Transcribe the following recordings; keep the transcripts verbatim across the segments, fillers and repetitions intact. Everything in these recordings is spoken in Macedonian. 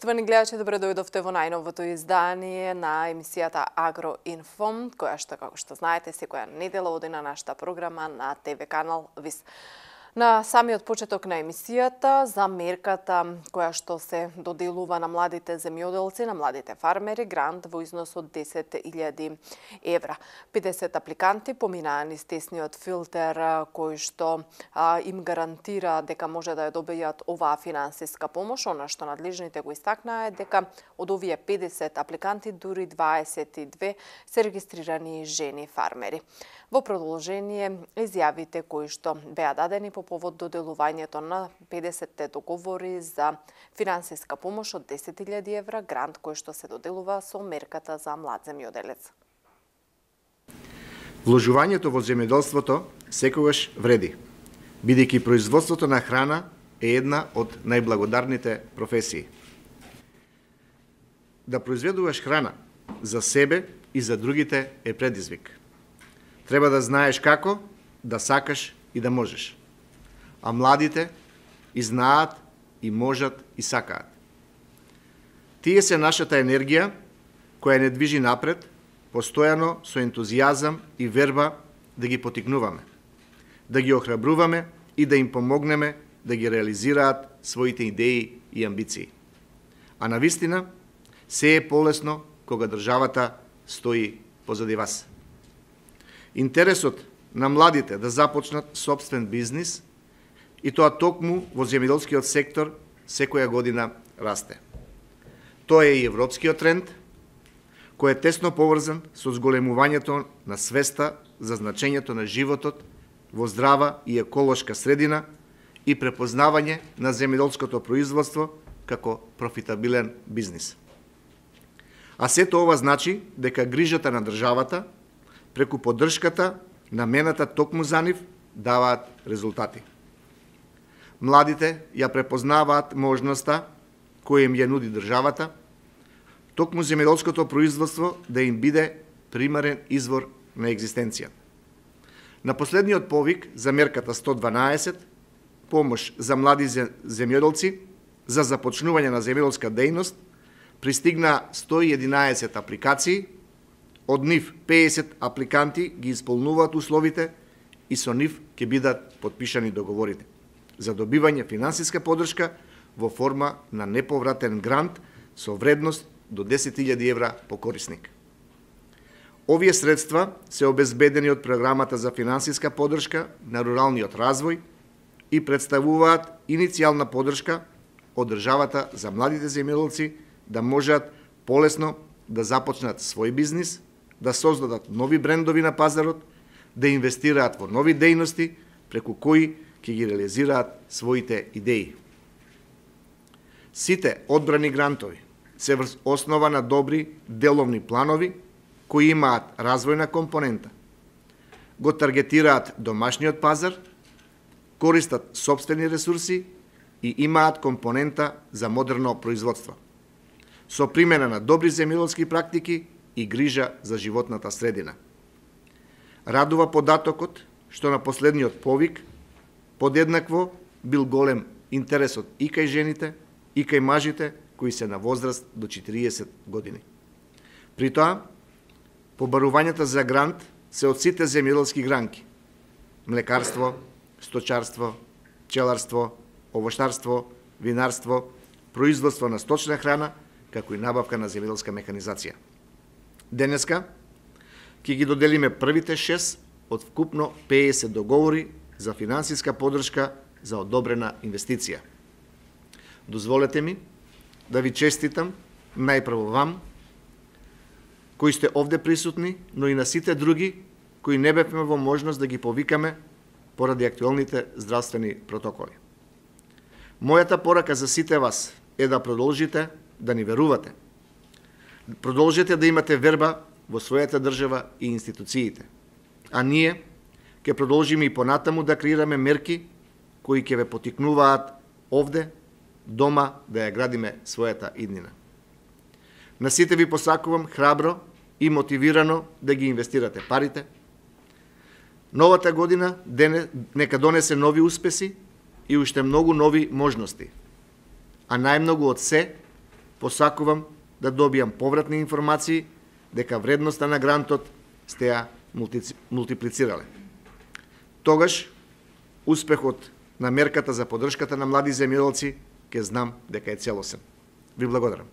Поштовани гледачи, добре дојдовте во најновото издание на емисијата Агроинфо, која што, како што знаете, секоја недела оди на нашата програма на ТВ канал ВИС. На самиот почеток на емисијата за мерката која што се доделува на младите земјоделци, на младите фармери, грант во износ од десет илјади евра. педесет апликанти поминаа низ тесниот филтер кој што а, им гарантира дека може да ја добијат оваа финансиска помош. Она што надлежните го истакнаа е дека од овие педесет апликанти дури дваесет и две се регистрирани жени фармери. Во продолжение изјавите кои што беа дадени по повод доделувањето на педесетте договори за финансиска помош од десет илјади евра, грант кој што се доделува со мерката за млад земјоделец. Вложувањето во земјоделството секогаш вреди, бидејќи производството на храна е една од најблагодарните професии. Да произведуваш храна за себе и за другите е предизвик. Треба да знаеш како, да сакаш и да можеш. А младите и знаат, и можат, и сакаат. Тие се нашата енергија, која не движи напред, постојано со ентузијазам и верба да ги потикнуваме, да ги охрабруваме и да им помогнеме да ги реализираат своите идеи и амбиции. А навистина, се е полесно кога државата стои позади вас. Интересот на младите да започнат собствен бизнис и тоа токму во земјоделскиот сектор секоја година расте. Тоа е и европскиот тренд, кој е тесно поврзан со зголемувањето на свеста за значењето на животот во здрава и еколошка средина и препознавање на земјоделското производство како профитабилен бизнис. А сето ова значи дека грижата на државата преку поддршката намената токму за нив даваат резултати. Младите ја препознаваат можноста која им ја нуди државата, токму земјоделското производство да им биде примарен извор на екзистенција. На последниот повик за мерката сто дванаесет, помош за млади земјоделци за започнување на земјоделска дејност, пристигна сто и единаесет апликации. Од нив педесет апликанти ги исполнуваат условите и со нив ќе бидат потпишани договорите за добивање финансиска поддршка во форма на неповратен грант со вредност до десет илјади евра по корисник. Овие средства се обезбедени од програмата за финансиска поддршка на руралниот развој и представуваат иницијална поддршка од државата за младите земјоделци да можат полесно да започнат свој бизнис, да создадат нови брендови на пазарот, да инвестираат во нови дејности преку кои ќе ги реализираат своите идеи. Сите одбрани грантови се врз основа на добри деловни планови кои имаат развојна компонента, го таргетираат домашниот пазар, користат сопствени ресурси и имаат компонента за модерно производство, со примена на добри земјоделски практики и грижа за животната средина. Радува податокот што на последниот повик подеднакво бил голем интересот и кај жените, и кај мажите кои се на возраст до четириесет години. При тоа, побарувањата за грант се од сите земјоделски гранки: млекарство, сточарство, пчеларство, овоштарство, винарство, производство на сточна храна, како и набавка на земјоделска механизација. Денеска ќе ги доделиме првите шест од вкупно педесет договори за финансиска поддршка за одобрена инвестиција. Дозволете ми да ви честитам најпрво вам, кои сте овде присутни, но и на сите други кои не бевме во можност да ги повикаме поради актуелните здравствени протоколи. Мојата порака за сите вас е да продолжите да ни верувате. Продолжете да имате верба во својата држава и институциите. А ние ќе продолжиме и понатаму да креираме мерки кои ќе ве потикнуваат овде, дома, да ја градиме својата иднина. На сите ви посакувам храбро и мотивирано да ги инвестирате парите. Новата година нека донесе нови успеси и уште многу нови можности. А најмногу од се посакувам да добијам повратни информации дека вредноста на грантот сте ја мултиплицирале. Тогаш, успехот на мерката за поддршката на млади земјоделци ќе знам дека е целосен. Ви благодарам.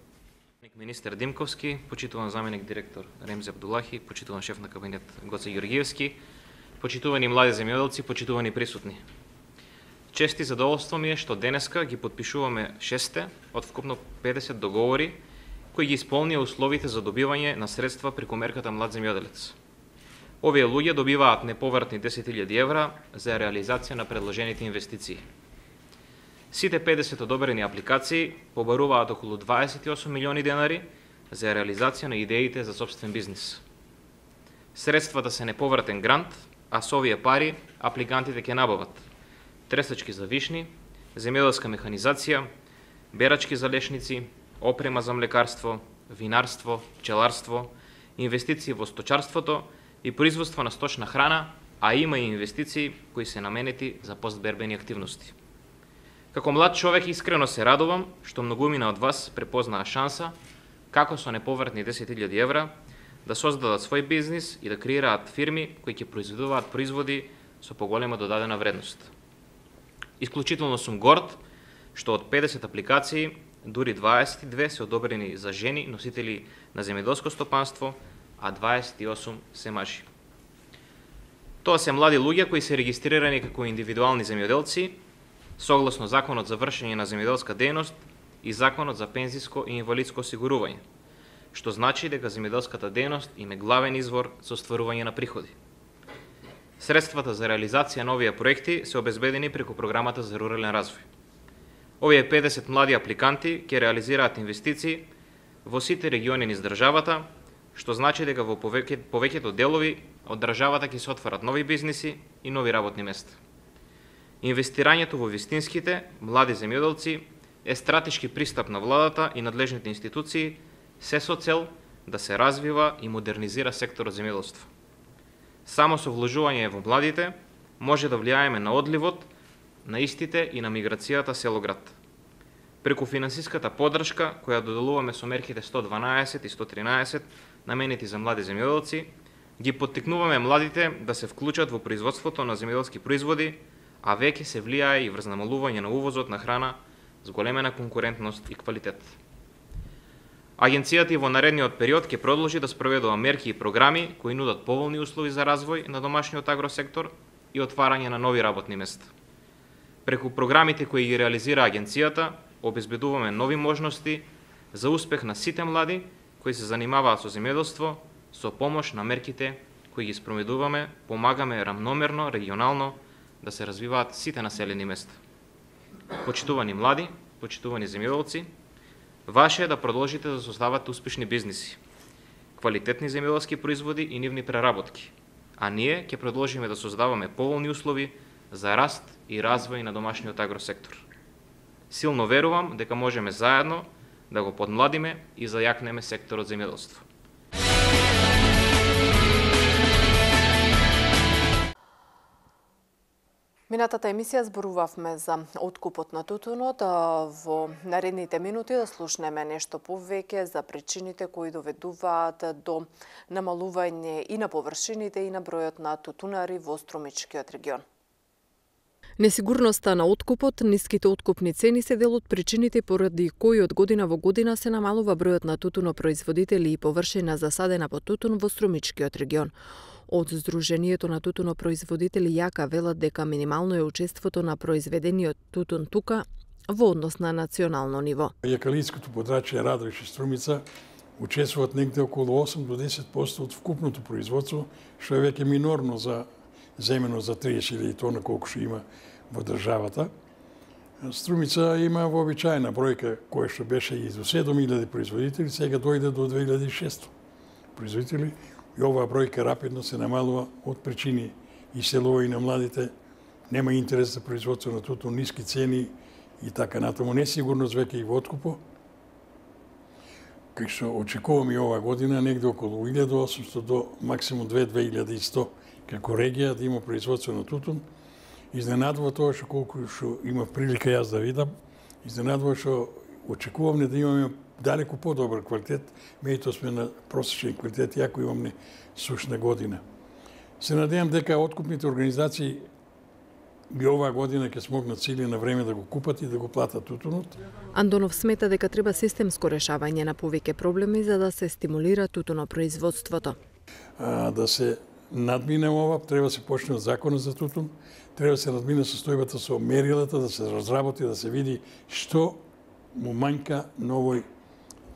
Министер Димковски, почитуван заменик директор Ремзи Абдулахи, почитуван шеф на кабинет Гоце Георгиевски, почитувани млади земјоделци, почитувани присутни. Чест и задоволство ми е што денеска ги подпишуваме шесте од вкупно педесет договори кои ги исполнија условите за добивање на средства преку мерката Млад земјоделец. Овие луѓе добиваат неповратни десет илјади евра за реализација на предложените инвестиции. Сите педесет одобрени апликации побаруваат околу дваесет и осум милиони денари за реализација на идеите за собствен бизнис. Средствата се неповратен грант, а со овие пари апликантите ќе набават тресачки за вишни, земјоделска механизација, берачки за лешници, опрема за млекарство, винарство, пчеларство, инвестиции во сточарството и производство на сточна храна, а има и инвестиции кои се наменети за постбербени активности. Како млад човек искрено се радувам што многумина од вас препознаа шанса како со неповратни десет илјади евра да создадат свој бизнис и да креираат фирми кои ќе произведуваат производи со поголема додадена вредност. Исклучително сум горд што од педесет апликации дури дваесет и две се одобрени за жени носители на земјоделско стопанство, а дваесет и осум се мажи. Тоа се млади луѓе кои се регистрирани како индивидуални земјоделци согласно Законот за вршење на земјоделска дејност и Законот за пензиско и инвалидско осигурување, што значи дека земјоделската дејност им е главен извор за остварување на приходи. Средствата за реализација на овие проекти се обезбедени преку програмата за рурален развој. Овие педесет млади апликанти ќе реализираат инвестиции во сите региони низ државата, што значи дека во повеќе, повеќето делови од државата ќе се отварат нови бизниси и нови работни места. Инвестирањето во вистинските млади земјоделци е стратешки пристап на владата и надлежните институции, се со цел да се развива и модернизира секторот земјоделство. Само со вложување во младите може да влијаеме на одливот на истите и на миграцијата село-град. Преку финансиската поддршка која доделуваме со мерките сто дванаесет и сто тринаесет наменети за млади земјоделци, ги поттикнуваме младите да се вклучат во производството на земјоделски производи, а веќе се влијае и врз намалување на увозот на храна с големена конкурентност и квалитет. Агенцијата и во наредниот период ќе продолжи да спроведува мерки и програми кои нудат поволни услови за развој на домашниот агросектор и отварање на нови работни места. Преку програмите кои ги реализира агенцијата, обезбедуваме нови можности за успех на сите млади кои се занимаваат со земјоделство, со помош на мерките кои ги спроведуваме, помагаме рамномерно, регионално да се развиваат сите населени места. Почитувани млади, почитувани земјоделци, ваше е да продолжите да создавате успешни бизниси, квалитетни земјоделски производи и нивни преработки, а ние ќе продолжиме да создаваме поволни услови за раст и развој на домашниот агросектор. Силно верувам дека можеме заедно да го подмладиме и зајакнеме секторот земјоделство. Минатата емисија зборувавме за откупот на тутунот. Во наредните минути да слушнеме нешто повеќе за причините кои доведуваат до намалување и на површините и на бројот на тутунари во Струмичкиот регион. Несигурноста на откупот, ниските откупни цени се дел од причините поради кои од година во година се намалува бројот на тутунопроизводители и површина засадена под тутун во Струмичкиот регион. Од Сдруженијето на тутунопроизводители Јака велат дека минимално е учеството на произведениот тутун тука во однос на национално ниво. Јакалиското подрачје Радовиш и Струмица учествуваат негде околу осум до десет проценти од вкупното производство, што е веќе минорно за земено за триесет илјади тона колку што има во државата. Струмица има вообичаена бројка која што беше и до седум илјади производители, сега дојде до две илјади и шестоста производители. И оваа бројка рапидно се намалува од причини иселување на младите, нема интерес за производство на тутун, ниски цени и така натаму, несигурност веќе и во откупо. Кај што очекуваме и оваа година негде околу илјада и осумстотини до максимум две до две илјади и сто како регија да има производство на тутун. Изненадува тоа што колку што има прилика јас да видам, изненадува што очекуваме да имаме далеку подобар квалитет, меѓутоа сме на просечен квалитет, иако имаме сушна година. Се надевам дека откупните организации би оваа година ќе смогнат сили на време да го купат и да го платат тутунот. Андонов смета дека треба системско решавање на повеќе проблеми за да се стимулира тутунопроизводството. А, да се надмине ова, треба да се почне од законот за тутун, треба да се надмине состојбата со мерилата, да се разработи, да се види што му манјка на овој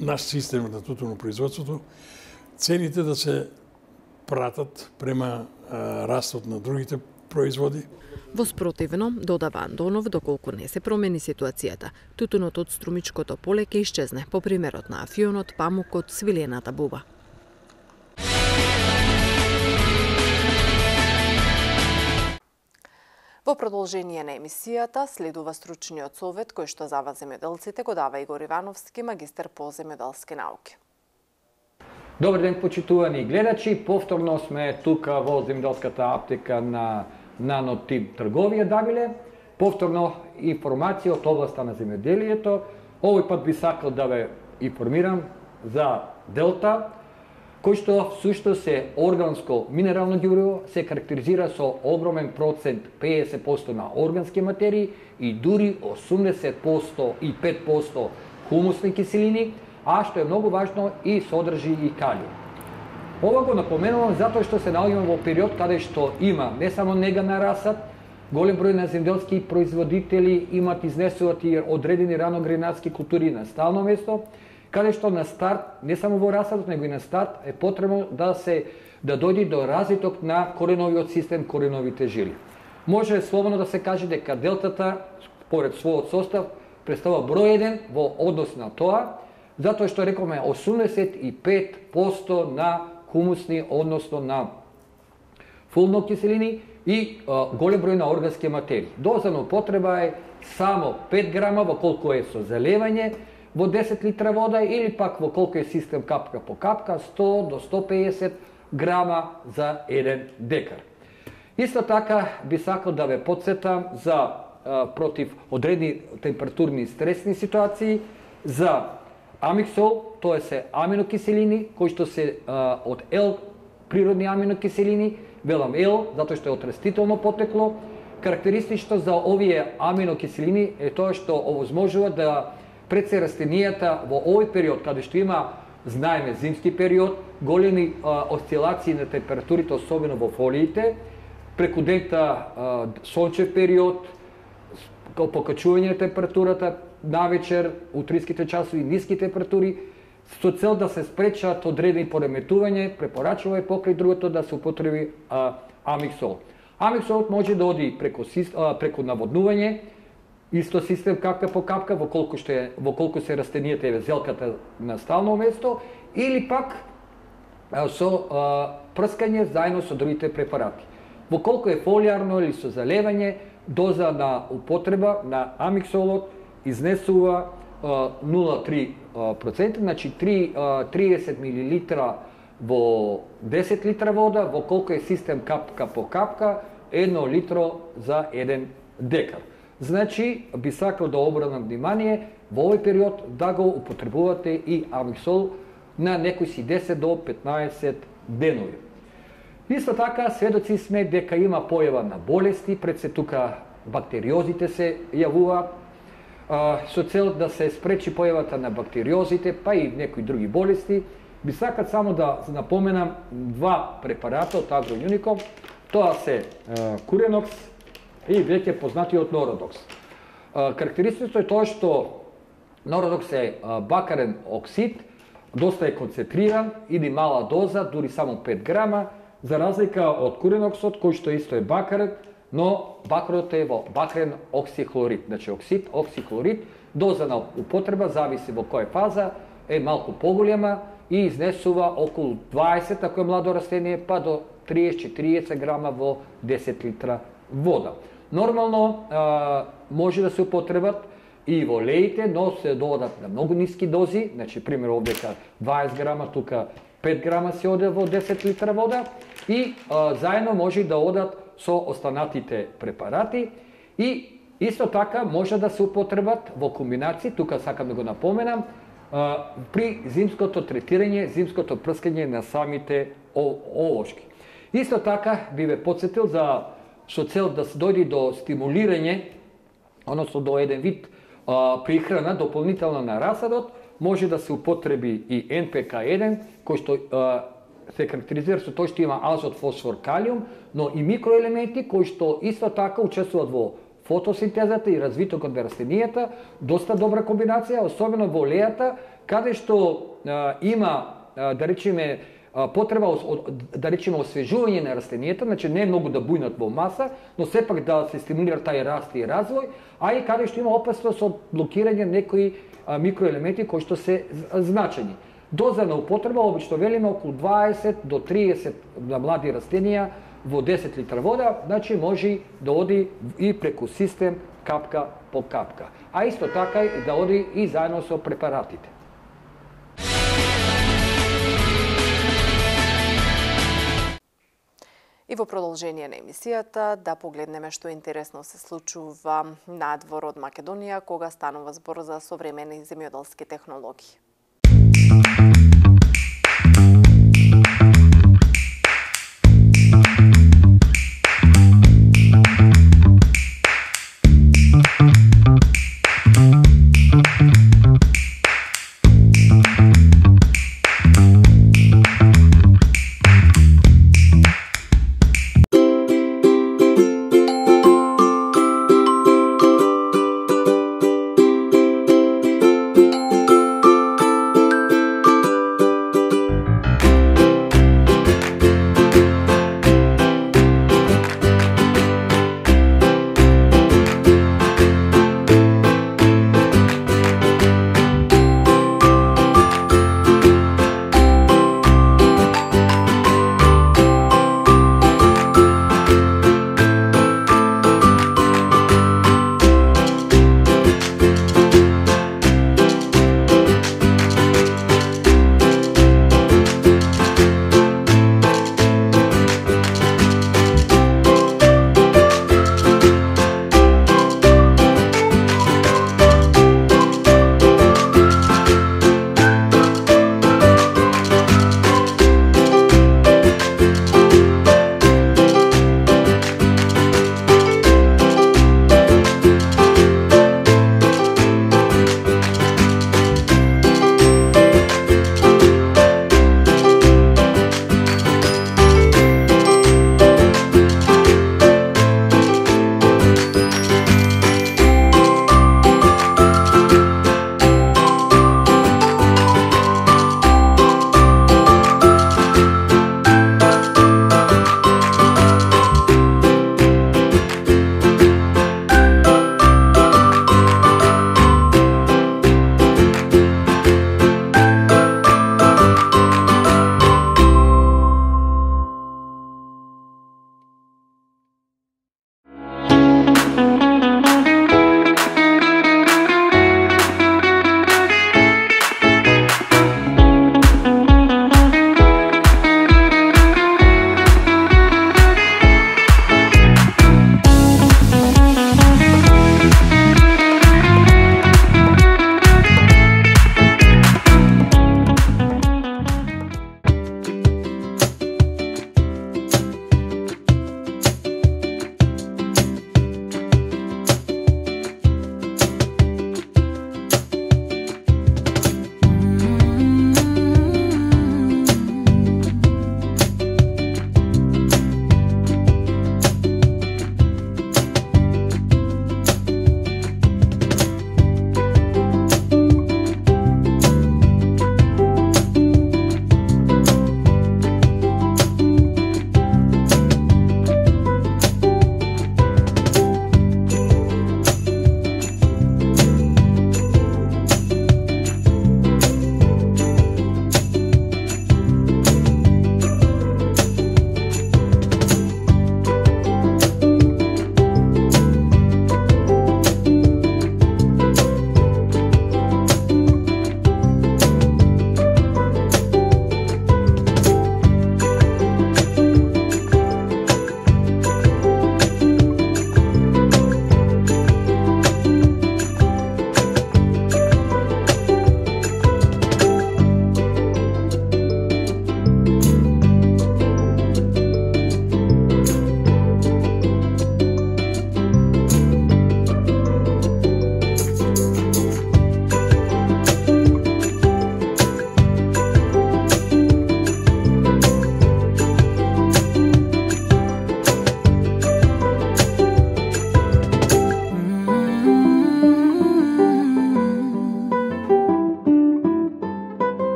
наш систем на тутунопроизводството, цените да се пратат према а, растот на другите производи. Во спротивно, додава Андонов, доколку не се промени ситуацијата, тутунот од струмичкото поле ќе исчезне, по примерот на афионот, памукот, свилената буба. Во продолжение на емисијата следува стручниот совет кој што за вас земјоделците го дава Игор Ивановски, магистар по земјоделски науки. Добар ден, почитувани гледачи. Повторно сме тука во земјоделската аптека на Нанотип трговија Дабиле. Повторно информација од областа на земјоделието. Овој пат би сакал да ве информирам за Делта, кој што всушност е органско минерално ѓубриво, се карактеризира со огромен процент педесет проценти на органски материи и дури осумдесет и пет проценти хумусни киселини, а што е многу важно и содржи и калиум. Ова го напоменувам затоа што се наоѓаме во период каде што има не само нега на расад, голем број на земјоделски производители имат изнесуваат и одредени раногренатски култури на стално место, каде што на старт, не само во расадот, него и на старт е потребно да се да дојде до развиток на кореновиот систем, кореновите жили. Може слободно да се каже дека делтата, според својот состав, представува број еден во однос на тоа, затоа што рековме осумдесет и пет проценти на хумусни, односно на фулно киселини и а, голем број на органски материи. Доза на употреба е само пет грама во колку е со заливање во десет литра вода или пак во колку е систем капка по капка, сто до сто педесет грама за еден декар. Исто така би сакал да ве потсетам за а, против одредени температурни стресни ситуации, за амиксол, тоа се аминокиселини кои што се а, од L природни аминокиселини, велам L затоа што е од растително потекло. Карактеристично за овие аминокиселини е тоа што овозможува да пред се растенијата во овој период каде што има, знаеме, зимски период, големи а, осцилации на температурите, особено во фолиите, преку дента а, сончев период, покачување на температурата, навечер, утринските часови, ниски температури, со цел да се спречат одредени пореметување, препорачува е покрај другото да се употреби а, амиксол. Амиксолот може да оди преку, а, преку наводнување, исто систем капка по капка, во колку, што е, во колку се растенијата е зелката на стално место, или пак а, со а, прскање заедно со другите препарати. Во колку е фолиарно или со залевање, доза на употреба на амиксолот изнесува нула целу три проценти, значи триесет милилитра во десет литра вода, во колку е систем капка по капка, едно литро за еден декар. Значи, би сакал да обрнам внимание во овој период да го употребувате и амиксол на некои си десет до петнаесет денови. Исто така, сведоци сме дека има појава на болести, пред се тука бактериозите се јавуваат, со цел да се спречи појавата на бактериозите, па и некои други болести. Би сакат само да напоменам два препарата од Агроюником, тоа се Куренокс и веќе познатиот Нородокс. Карактеристично е тоа што Нородокс е бакарен оксид, доста е концентриран, иди мала доза, дури само пет грама, за разлика од Куреноксот, кој што исто е бакарен, но бакарот е во бакрен оксихлорид. Значи оксид, оксихлорид, доза на употреба, зависи во која фаза, е малку поголема и изнесува околу дваесет, ако е младо растение, па до триесет до четириесет грама во десет литра вода. Нормално а, може да се употребат и во леите, но се додат на многу ниски дози, значи пример овдека дваесет грама, тука пет грама се оде во десет литра вода и а, заедно може да одат со останатите препарати и исто така може да се употребат во комбинација, тука сакам да го напоменам, при зимското третирање, зимското прскање на самите олошки. Исто така би ве подсетил за со цел да се дојде до стимулирање, односно до еден вид а, прихрана дополнително на расадот, може да се употреби и Ен Пе Ка еден, кој што а, се карактеризира со тој што има азот, фосфор, калиум, но и микроелементи кои што исто така учествуваат во фотосинтезата и развитокот на растенијата, доста добра комбинација, особено во лејата, каде што а, има, а, да речеме, а, потреба, да речеме, освежување на растенијата, значи не е многу да бујнат во маса, но сепак да се стимулира тај раст и развој, а и каде што има опасност од блокирање некои а, микроелементи кои што се значени. Доза на употреба, обично велиме, околу дваесет до триесет на млади растенија во десет литра вода, значи може да оди и преку систем капка по капка. А исто така и да оди и заедно со препаратите. И во продолжение на емисијата да погледнеме што интересно се случува надвор од Македонија кога станува збор за современи земјоделски технологии.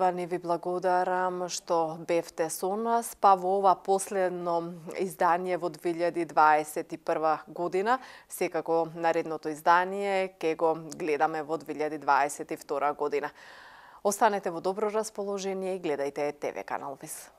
почитувани, ви благодарам што бевте со нас, па во ова последно издание во две илјади дваесет и прва година. Секако наредното издание ќе го гледаме во две илјади дваесет и втора година. Останете во добро расположение и гледајте ТВ канал ВИС.